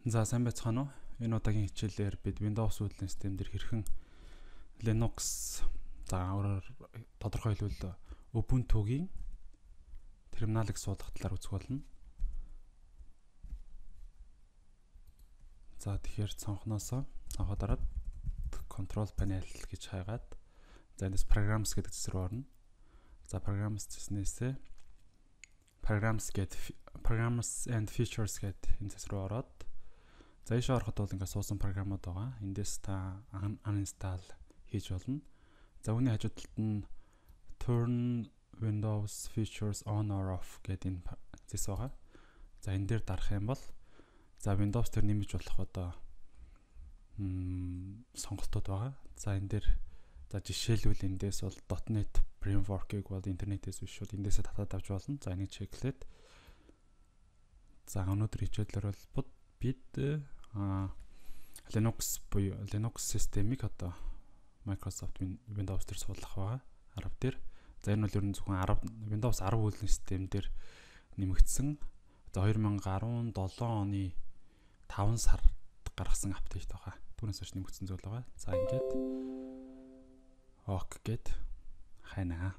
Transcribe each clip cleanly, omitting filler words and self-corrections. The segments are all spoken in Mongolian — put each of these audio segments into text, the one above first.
За сайн байцгаана уу? Энэ удаагийн хичээлээр бид Windows үүлэн систем дээр хэрхэн Linux өөрөөр тодорхой хэлбэл Ubuntu-гийн терминалыг суулгах талаар үзэх болно. За тэгэхээр цонхоод дараад Control Panel гэж хайгаад за эндээс Programs гэдэг зэрэг рүү орно. За Programs гэснээсээ Programs and Features гэдэг энэ зэрэг рүү ороод за ийшээ ороход бол ингээд суусан програмууд байгаа. Эндээс та uninstall хийж болно. За үүний хажуу талд нь Turn Windows Features on or off гэдэг энэ зэс байгаа. За энэ дээр дарах юм бол за Windows дээр нэмж болох одоо сонголтууд байгаа. За энэ дээр за жишээлбэл эндээс бол .NET Framework-ыг бол интернетээс биш шууд эндээсээ татаад авч болно. За энийг чеклээд за өнөөдөр хичээлээр бол бид Linux буюу Linux системийг одоо Microsoft Windows дээр суулгах байгаа. Арав дээр. За энэ бол ер нь зөвхөн Windows 10 үүлэн систем дээр нэмэгдсэн. Одоо 2017 оны 5 сард гаргасан апдейт байгаа. Түүнээс хойш нэмэгдсэн зүйл байгаа. За ингээд ок гэд хайнаа.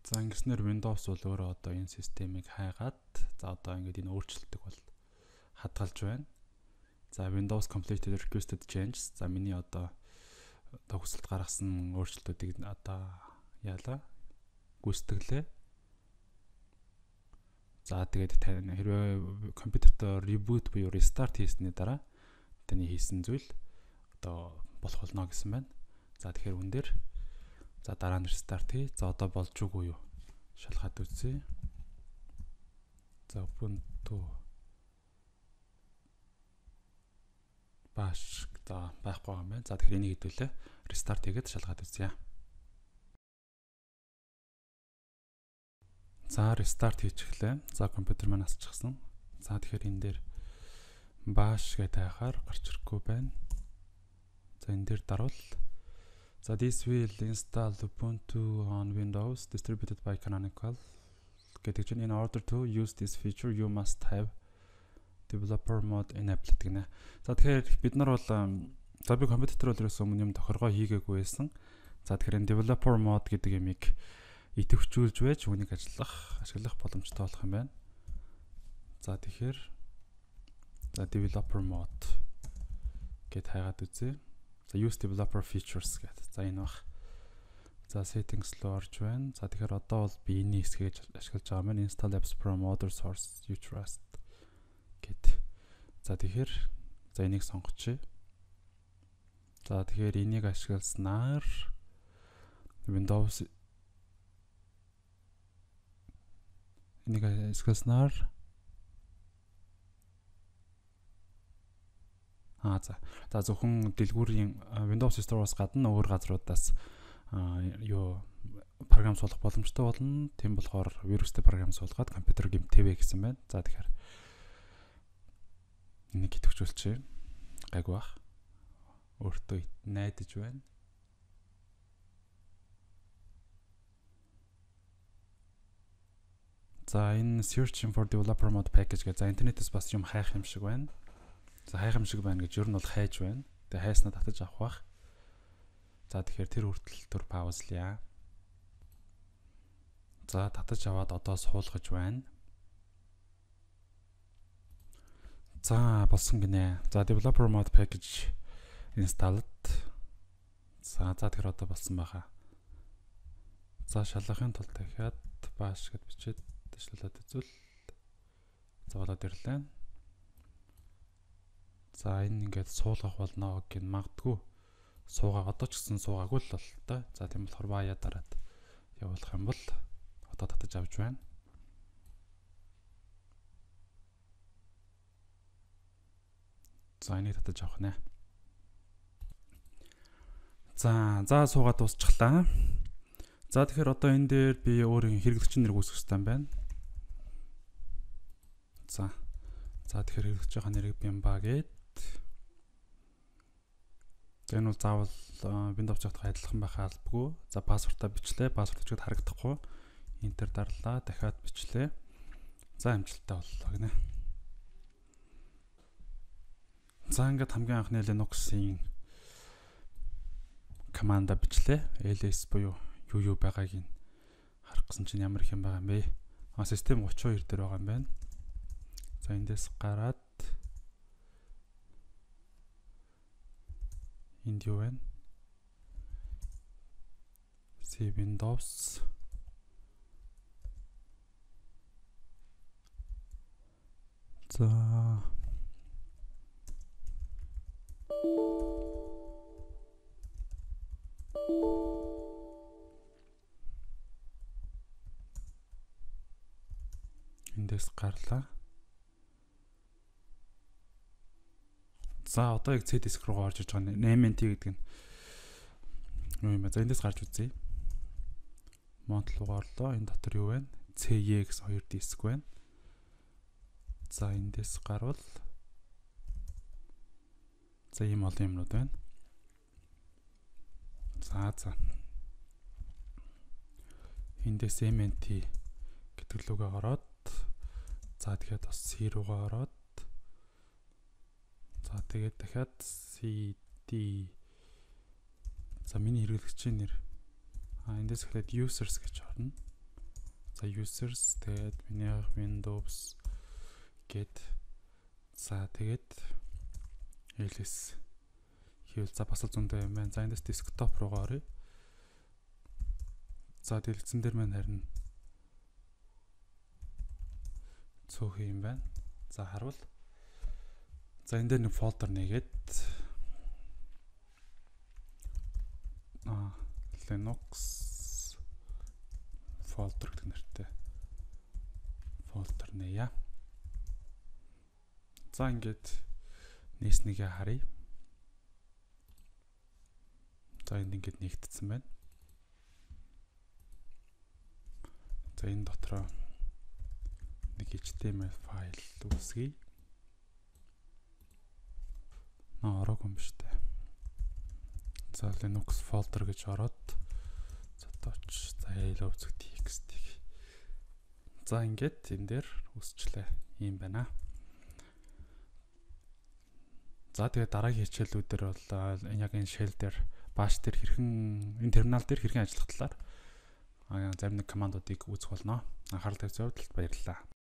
За ингэснээр Windows бол өөрөө одоо энэ системийг хайгаад за одоо ингээд энэ өөрчлөлтөг бол хадгалж байна. За Windows completed requested changes. За миний одоо хүсэлт гаргасан өөрчлөлтүүдийг одоо яалаа гүйцэтгэлээ. За тэгээд хэрвээ компьютерт reboot буюу restart хийсний дараа таны хийсэн зүйл одоо болох болно гэсэн байна. За тэгэхээр үн дээр за дараа нь restart хий. За одоо болж үгүй юу? Шалгаад үзье. За Ubuntu bash за байхгүй юм байна. За тэгэхээр энийг хэдүүлээ. Restart хийгээд шалгаад үзье. За restart хийчихлээ. За компьютер маань асчихсан. За тэгэхээр энэ дээр bash гэдэг хайхаар гарч ирэхгүй байна. За энэ дээр дарвал so this will install Ubuntu on Windows distributed by Canonical. Гэдэг чинь in order to use this feature you must have developer mode enabled гэнэ. За тэгэхээр бид нар бол за би компьютер бол ерөөсөө өмнө юм тохиргоо хийгээгүй байсан. За тэгэхээр энэ developer mode гэдэг ямиг идэвхжүүлж байж үүнийг ашиглах боломжтой болох юм байна. За тэгэхээр за developer mode гэд хайгаад үзье. За use developer features гэдэг. За энэ бах. За settings руу орж байна. За тэгэхээр одоо бол би энэ хэсгийг ашиглаж байгаа маань install apps from other source you trust гэд. За тэгэхээр за энийг сонгочихъя. За тэгэхээр энийг ашигласнаар Windows энийг ашигласнаар за зөвхөн дэлгүүрийн Windows Store-оос гадна өөр газруудаас програм суулгах боломжтой болно. Тийм болохоор вирустэй програм суулгаад компьютер гэмтээвэ гэсэн байна. За тэгэхээр энийг идэвхжүүлчихье. Гайгүй бах. Өөртөө найдаж байна. За энэ searching for developer mode package гэж за интернетээс бас юм хайх юм шиг байна. За хайх юм шиг байна гэж ер нь бол хайж байна. Тэгээ хайснаа татаж авах бах. За тэгэхээр тэр хүртэл төр паузлъя. За татаж аваад одоо суулгаж байна. За болсон гинэ. За developer mode package installed. За тэгэхээр одоо болсон байхаа. За шалгахын тулд дахиад bash гэж бичээд дэвшлээд үзвэл за болоод ирлээ. За энэ ингээд суулгах болно гэх нь магадгүй суугаа одоо ч гэсэн суугаагүй л бол та. За тийм болохоор баяа дараад явуулах юм бол одоо татаж авч байна. За энийг татаж авах нэ. За суугаад дуусчихлаа. За тэгэхээр одоо энэ дээр би өөрийн хэрэглэгчийн нэрийг үүсгэх хэрэгтэй юм байна. За тэгэхээр хэрэглэж байгаа нэрийг бямба гээд энэ бол заавал Windows цогтойгоо адилхан байхаа албагүй. За пассвортаа бичлээ. Пассворд өчгөд харагдахгүй. Enter дарлаа. Дахиад бичлээ. За амжилттай боллоо гинэ. За ингээд хамгийн анхны Linux-ийн команда бичлээ. ls буюу юу байгааг нь харах гэсэн чинь ямар их юм байгаа юм бэ? Систем 32 дээр байгаа юм байна. За эндээс гараад энд юу вэ? C Windows за эндээс гарлаа. За одоо яг C disk руу орж иж байгаа NMT гэдэг нь юу юм бэ? За эндээс гарч үзье. Mount руу орлоо. Энэ дотор юу вэ? CEX 2 диск байна. За эндээс гарвал за ийм олон юмнууд байна. За эндээс MNT гэдэг лугаа ороод за тэгэхээр бас C руугаа ороод за тэгээд дахиад CD за миний хэрэглэгчийн нэр эндээс эхлээд users гэж орно. За users тэгээд миний Windows гэд за тэгээд ls хийвэл за бас зөндөө юм байна. За эндээс desktop руугаа оръё. За дэлгэцэн дээр маань харин цөөх юм байна. За харуул. За энэ дээр нэг фолдер нэгээд Linux folder гэдэг нэртэй folder нээе. За ингээд нээснігээ харъя. За энд ингээд нэгтсэн байна. За энэ дотроо нэг HTML файл үүсгэе. Ороог юм шүү дээ. За Linux folder гэж ороод за touch за hello txt. За ингээд энэ дээр үсчлээ. Ийм байна. За тэгээд дараагийн хичээлүүдээр бол яг энэ shell дээр bash дээр хэрхэн энэ терминал дээр хэрхэн ажиллах талаар зарим нэг командуудыг үзэх болно. Анхаарал тавьсан явдалд баярлалаа.